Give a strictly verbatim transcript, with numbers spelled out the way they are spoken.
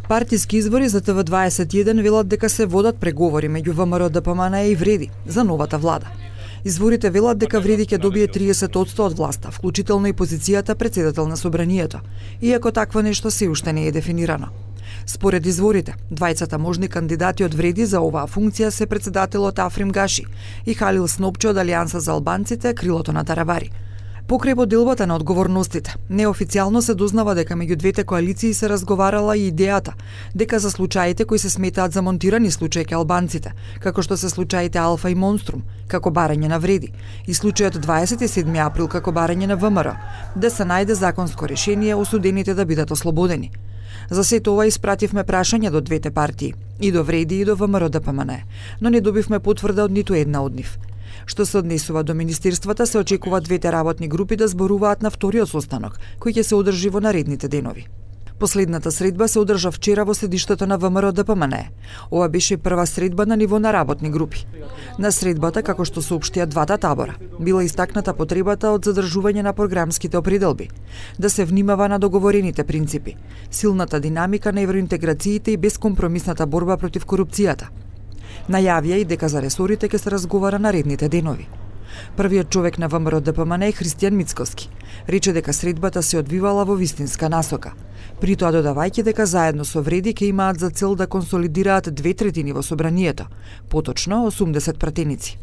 Партиски избори за Т В дваесет и еден велат дека се водат преговори меѓу В М Р Д П М Н и Вреди за новата влада. Изворите велат дека Вреди ќе добие триесет одсто од власта, вклучително и позицијата председател на собранието, иако такво нешто се уште не е дефинирано. Според изворите, двајцата можни кандидати од Вреди за оваа функција се председателот Африм Гаши и Халил Снопче од Алијанса за албанците, крилото на Таравари. Покрај поделбата на одговорностите, неофицијално се дознава дека меѓу двете коалиции се разговарала и идејата дека за случаите кои се сметаат за монтирани случаи ке албанците, како што се случаите Алфа и Монструм, како барање на Вреди, и случајот дваесет и седми април како барање на В М Р, да се најде законско решение осудените да бидат ослободени. За сето ова испративме прашања до двете партии, и до Вреди и до В М Р Д П М Н, но не добивме потврда од ниту една од нив. Што се однесува до министерствата, се очекува двете работни групи да зборуваат на вториот состанок, кој ќе се одржи во наредните денови. Последната средба се одржа вчера во седиштето на В М Р Д П М Н. Ова беше прва средба на ниво на работни групи. На средбата, како што соопштија двата табора, била истакната потребата од задржување на програмските определби, да се внимава на договорените принципи, силната динамика на евроинтеграциите и бескомпромисната борба против корупцијата. Најавија и дека за ресорите ќе се разговара наредните денови. Првиот човек на В М Р Д П М Н е Христијан Мицкоски. Рече дека средбата се одвивала во вистинска насока. При тоа додавајќи дека заедно со Вреди ќе имаат за цел да консолидираат две третини во собранието, поточно осумдесет пратеници.